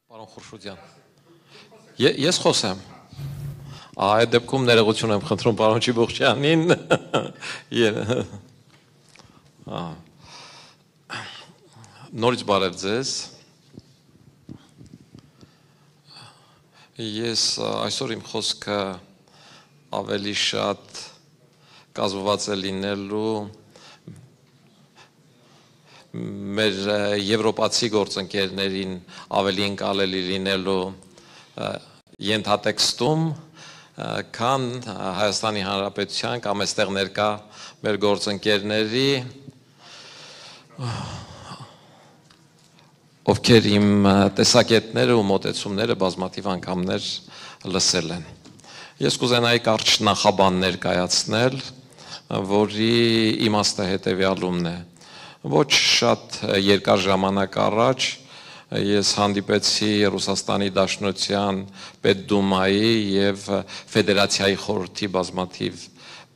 Պարոն Խուրշուդյան, ես խոսեմ, այդ դեպքում ներողություն եմ խնդրում պարոն Չիբուխչյանին, նորից բարև ձեզ, ես այսօր իմ խոսքը ավելի շատ կազմված է լինելու մեր եվրոպացի գործընկերներին ավելի ընկալելի լինելու ենթատեքստում, քան Հայաստանի Հանրապետության կամ այստեղ ներկա մեր գործընկերների, ովքեր իմ տեսակետները ու մոտեցումները բազմաթիվ անգամներ լսել են։ Ես կուզենայի կարճ նախաբան ներկայացնել, որի իմաստը հետևյալումն է։ Ոչ շատ երկար ժամանակ առաջ ես հանդիպեցի Ռուսաստանի Դաշնության Պետդումայի և Ֆեդերացիայի խորհրդի բազմաթիվ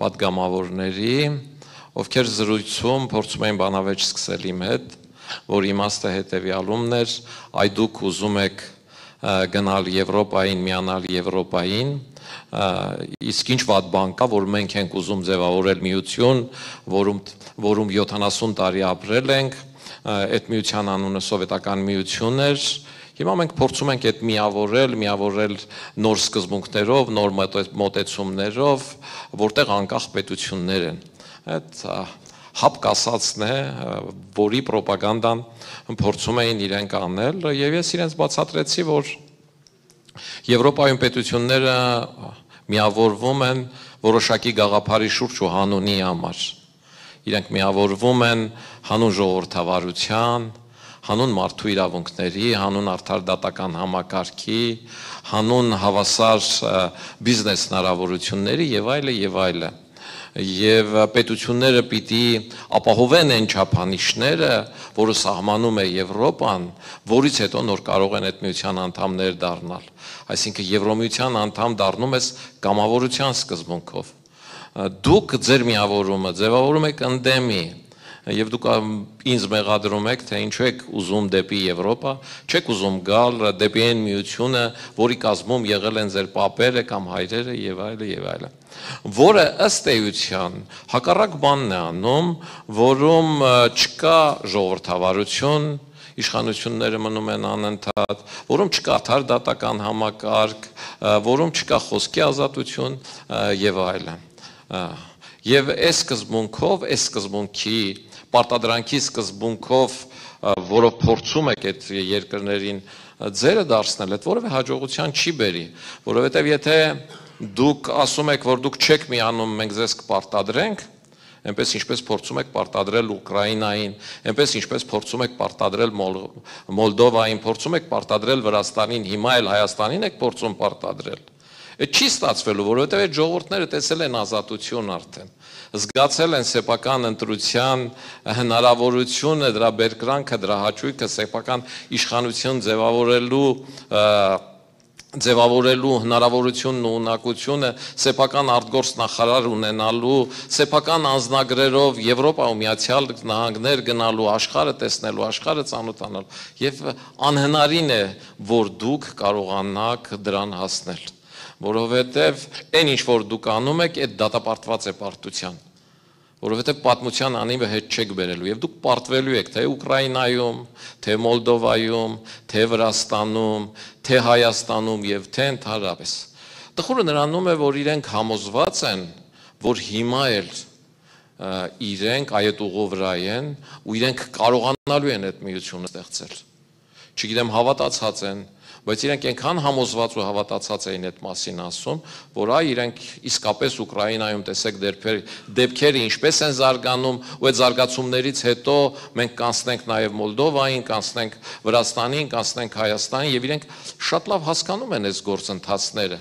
պատգամավորների, ովքեր զրույցում փորձում էին բանավեճ սկսել իմ հետ, որ իմաստը հետևյալումն էր, այ դուք ուզում եք գնալ Եվրոպային, միանալ Եվրոպային, իսկ ինչ վատ բան կա, որ մենք ենք ուզում ձևավորել միություն, որում 70 տարի ապրել ենք, այդ միության անունը սովետական միություն էր, հիմա մենք փորձում ենք այդ միավորել նոր սկզբունքներով, նոր մոտեցումներով, որտեղ անկախ պետություններ են։ Այդ հապկ ասածն է, որի պրոպագանդան փորձում էին իրենք անել, և ես իրենց բացատրեցի, որ Եվրոպայում պետությունները միավորվում են որոշակի գաղափարի շուրջ ու հանունի համար։ Իրենք միավորվում են հանուն ժողովրդավարության, հանուն մարդու իրավունքների, հանուն արդար դատական համակարգի, հանուն հավասար բիզնես հնարավորությունների և այլը և այլը։ Եվ պետությունները պիտի ապահովեն այն չափանիշները, որը սահմանում է Եվրոպան, որից հետո նոր կարող են այդ միության անդամներ դառնալ։ Այսինքն Եվրոմիության անդամ դառնում ես կամավորության սկզբունքով։ Դուք ձեր միավորումը ձևավորում եք ընդդեմի, և դուք ինձ մեղադրում եք, թե ինչու եք ուզում դեպի Եվրոպա, չեք ուզում գալ դեպի այն միությունը, որի կազմում եղել են ձեր պապերը կամ հայրերը և այլը և այլը, որը ըստ էության հակառակ բանն է անում, որում չկա ժողովրդավարություն, իշխանությունները մնում են անընդհատ, որում չկա արդար դատական համակարգ, որում չկա խոսքի ազատություն և այլն։ Եվ այս սկզբունքով, այս սկզբունքի պարտադրանքի սկզբունքով, որով փորձում եք այդ երկրներին ձերը դարձնել, այդ որևէ հաջողության չի բերի, որովհետև եթե դուք ասում եք, որ դուք չեք միանում, մենք ձեզ կպարտադրենք, այնպես ինչպես փորձում եք պարտադրել Ուկրաինային, այնպես ինչպես փորձում եք պարտադրել Մոլդովային, փորձում եք պարտադրել Վրաստանին, հիմա էլ Հայաստանին եք փորձում պարտադրել։ Այդ չի ստացվելու, որովհետև այդ ժողովուրդները տեսել են ազատություն արդեն, զգացել են սեփական ընտրության հնարավորությունը, դրա բերկրանքը, դրա հաճույքը, սեփական իշխանություն ձևավորելու հնարավորությունն ու ունակությունը, սեփական արտգործ նախարար ունենալու, սեփական անձնագրերով Եվրոպա ու Միացյալ Նահանգներ գնալու, աշխարհը տեսնելու, աշխարհը ծանոթանալու, եւ անհնարին է, որ դուք կարողանաք դրան հասնել, որովհետև այն ինչ որ դուք անում եք, այդ դատապարտված է պարտության, որովհետև պատմության անիվը հետ չեք բերելու եւ դուք պարտվելու եք թե Ուկրաինայում, թե Մոլդովայում, թե Վրաստանում, թե Հայաստանում եւ թե ընդհանրապես։ Տխուրը նրանում է, որ իրենք համոզված են, որ հիմա էլ իրենք այդ ուղու վրա են ու իրենք կարողանալու են այդ միությունը ստեղծել։ Չգիտեմ հավատացած են, բայց իրենք այնքան համոզված ու հավատացած էին այդ մասին ասում, որ այ իրենք իսկապես Ուկրաինայում տեսեք դեպքերը ինչպես են զարգանում ու այդ զարգացումներից հետո մենք կանցնենք նաև Մոլդովային, կանցնենք Վրաստանին, կանցնենք Հայաստանին եւ իրենք շատ լավ հասկանում են այս գործընթացները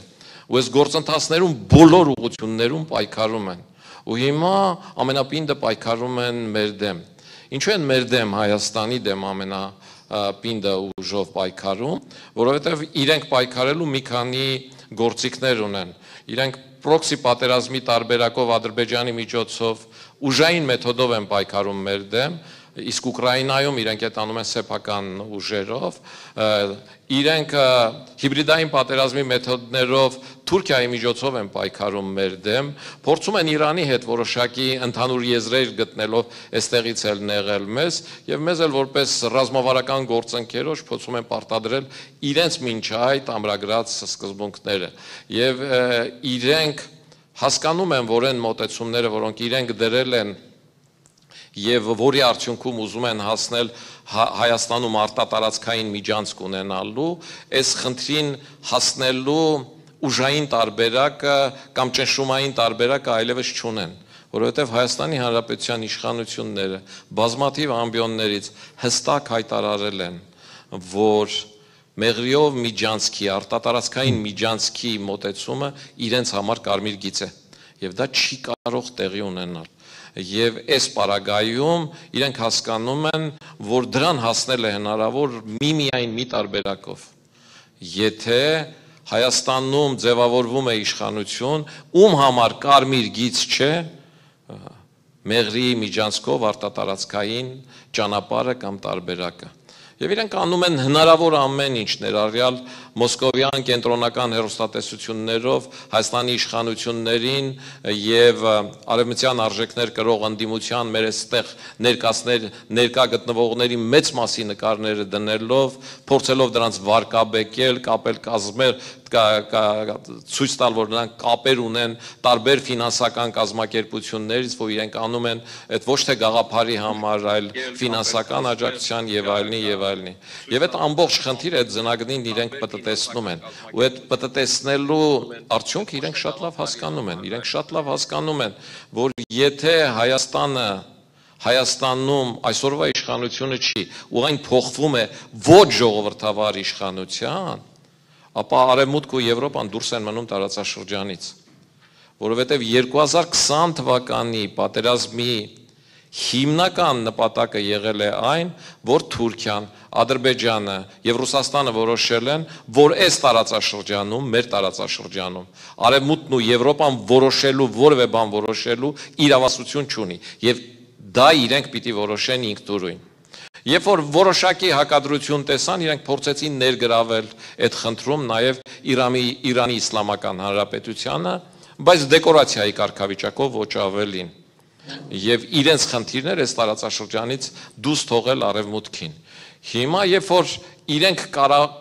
ու այս գործընթացներում բոլոր ուղղություններում պայքարում են ու հիմա ամենապինդը պայքարում են մեր դեմ։ Ինչու են մեր դեմ Հայաստանի դեմ պինդը ուժով պայքարում, որովհետև իրենք պայքարելու մի քանի գործիքներ ունեն։ Իրենք պրոքսի պատերազմի տարբերակով Ադրբեջանի միջոցով ուժային մեթոդով են պայքարում մեր դեմ իսկ Ուկրաինայում իրենք այդ անում են սեփական ուժերով, իրենք հիբրիդային պատերազմի մեթոդներով Թուրքիայի միջոցով են պայքարում մեր դեմ, փորձում են Իրանի հետ որոշակի ընդհանուր եզրեր գտնելով այստեղից էլ նեղել մեզ եւ մեզ էլ որպես ռազմավարական գործընկերոջ փորձում են պարտադրել իրենց մինչ այդ ամրագրած սկզբունքները եւ իրենք հասկանում են, որ այն մոտեցումները, որոնք իրենք դրել են եւ որի արդյունքում ուզում են հասնել Հայաստանում արտատարածքային միջանցք ունենալու, այս խնդրին հասնելու ուժային տարբերակը կամ ճնշումային տարբերակը այլևս չունեն, որովհետեւ Հայաստանի Հանրապետության իշխանությունները բազմաթիվ ամբիոններից հստակ հայտարարել են, որ Մեղրիով միջանցքի, արտատարածքային միջանցքի մոտեցումը իրենց համար կարմիր գիծ է եւ դա չի կարող տեղի ունենալ եւ այս պարագայում իրենք հասկանում են, որ դրան հասնել է հնարավոր միայն մի տարբերակով եթե Հայաստանում ձևավորվում է իշխանություն, ում համար կարմիր գիծ չէ Մեղրիի միջանցքով արտատարածքային ճանապարհը կամ տարբերակը Եվ իրենք անում են հնարավոր ամեն ինչ ներառյալ մոսկովյան կենտրոնական հեռուստատեսություններով Հայաստանի իշխանություններին եւ արևմտյան արժեքներ կրող ընդդիմության մեր այստեղ ներկա գտնվողների մեծ մասի նկարները դնելով, փորձելով դրանց վարկաբեկել, կապել կազմել ցույց տալ, որ նրանք կապեր ունեն տարբեր ֆինանսական կազմակերպություններից, որ իրենք անում են այդ ոչ թե գաղափարի համար, այլ ֆինանսական աջակցության եւ այլնի եւ այլնի։ Եվ այդ ամբողջ խնդիրը այդ զնագնին իրենք պտտեցնում են, ու այդ պտտեցնելու արդյունքը իրենք շատ լավ հասկանում են, իրենք շատ լավ հասկանում են, որ եթե Հայաստանում այսօրվա իշխանությունը չի, ու այն փոխվում է ոչ ժողովրդավար իշխանության, ապա Արևմուտք ու Եվրոպան դուրս են մնում տարածաշրջանից, որովհետև 2020 թվականի պատերազմի հիմնական նպատակը եղել է այն, որ Թուրքիան, Ադրբեջանը եւ Ռուսաստանը որոշել են, որ այս տարածաշրջանում, մեր տարածաշրջանում, Արևմուտքն ու Եվրոպան որոշելու որևէ բան որոշելու իրավասություն չունի, եւ դա իրենք պիտի որոշեն ինքնուրույն։ Երբ որ որոշակի հակադրություն տեսան, իրենք փորձեցին ներգրավել այդ խնդրում նաև Իրանի Իսլամական Հանրապետությանը, բայց դեկորացիայի կարգավիճակով ոչ ավելին։ Եվ իրենց խնդիրները այս տարածաշրջանից դուրս թողել Արևմուտքին։ Հիմա երբ որ իրենք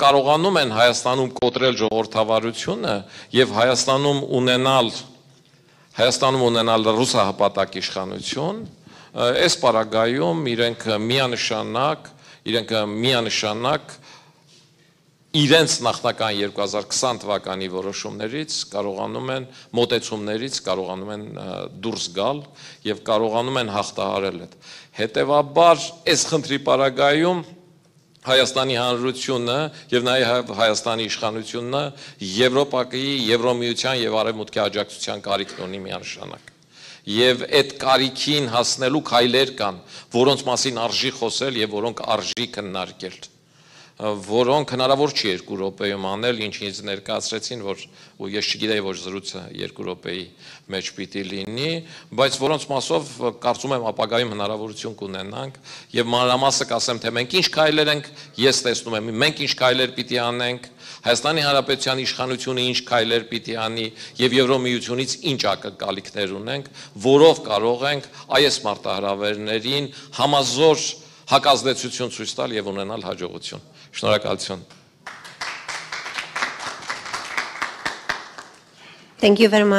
կարողանում են Հայաստանում կոտրել ժողովրդավարությունը եւ Հայաստանում ունենալ ռուսահպատակ իշխանություն, այս պարագայում իրենք միանշանակ իրենց նախնական 2020 թվականի որոշումներից կարողանում են մոտեցումներից կարողանում են դուրս գալ եւ կարողանում են հաղթահարել այդ։ Հետևաբար այս խնդրի պարագայում Հայաստանի Հանրությունը եւ նաեւ Հայաստանի իշխանությունը Եվրոպայի, Եվրոմիության եւ Արևմուտքի աջակցության կարիք ունի միանշանակ։ Եվ այդ կարիքին հասնելու քայլեր կան, որոնց մասին արժի խոսել եւ որոնք արժի քննարկել, որոնք հնարավոր չի 2 րոպեում անել, ինչ ինձ ներկայացրեցին, որ ու ես չգիտեի, որ զրույցը 2 րոպեի մեջ պիտի լինի, բայց որոնց մասով կարծում եմ ապագայում հնարավորություն կունենանք եւ մանրամասը կասեմ, թե մենք ինչ քայլեր ենք, ես տեսնում եմ, մենք ինչ քայլեր պիտի անենք, Հայաստանի Հանրապետության իշխանությունը ինչ քայլեր պիտի անի եւ Եվրոմիությունից ինչ ակնկալիքներ ունենք, որով կարող ենք այս մարտահրավերներին համազոր հակազդեցություն ցույց տալ եւ ունենալ հաջողություն։ Շնորհակալություն։ Thank you very much.